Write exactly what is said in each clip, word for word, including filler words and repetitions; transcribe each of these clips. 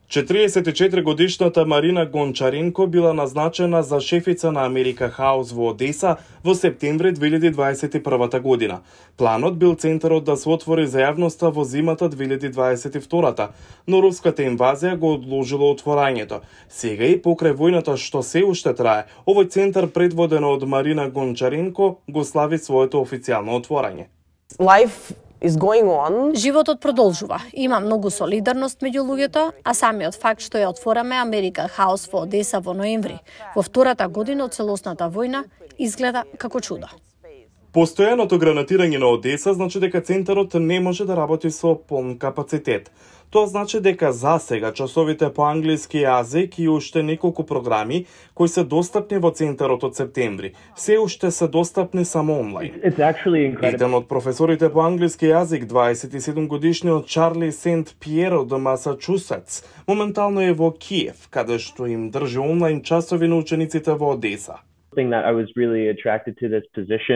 четириесет и четири годишната Марина Гончаренко била назначена за шефица на Америка Хаус во Одеса во септември две илјади дваесет и прва година. Планот бил центарот да се отвори за јавноста во зимата две илјади дваесет и втора, но руската инвазија го одложила отворањето. Сега и покрај војната што се уште трае, овој центар предводен од Марина Гончаренко го слави своето официјално отворање. Life is going on. Животот продолжува. Има многу солидарност меѓу луѓето, а самиот факт што ја отвораме Америка Хаус во Одеса во ноември, во втората година од целосната војна, изгледа како чудо. Постојаното гранатирање на Одеса значи дека центарот не може да работи со полн капацитет. Тоа значи дека засега часовите по англиски јазик и уште неколку програми кои се достапни во центарот од септември, се уште се достапни само онлайн. Еден од професорите по англиски јазик, дваесет и седум годишниот Чарли Сент Пиеро од Масачусетс, моментално е во Киев, каде што им држи онлайн часови на учениците во Одеса.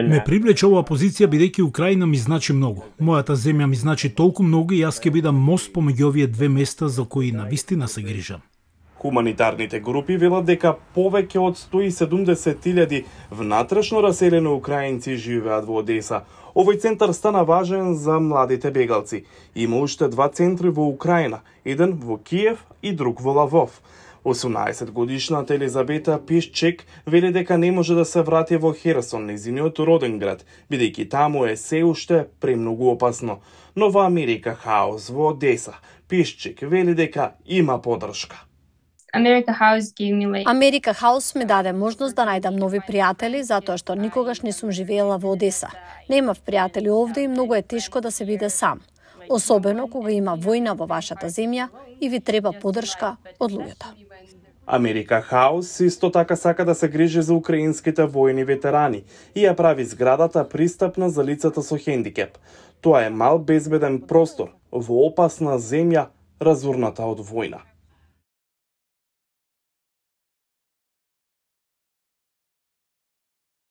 Ме привлече оваа позиција бидејќи Украина ми значи многу. Мојата земја ми значи толку многу и јас ќе бидам мост помеѓу овие две места за кои навистина се грижам. Хуманитарните групи велат дека повеќе од сто и седумдесет илјади внатрешно раселени украинци живеат во Одеса. Овој центар стана важен за младите бегалци. Има уште два центри во Украина, еден во Киев и друг во Лавов. осумнаесет годишната Елизабета Пишчек вели дека не може да се врати во Херсон, незиниот роден град, бидејќи таму е се уште премногу опасно. Но во Америка Хаус во Одеса, Пишчек вели дека има поддршка. Америка Хаус ми даде можност да најдам нови пријатели, затоа што никогаш не сум живеела во Одеса. Немав пријатели овде и многу е тешко да се биде сам. Особено кога има војна во вашата земја и ви треба поддршка од луѓето. Америка Хаус исто така сака да се грижи за украинските војни ветерани и ја прави зградата пристапна за лицата со хендикеп. Тоа е мал безбеден простор во опасна земја разурната од војна.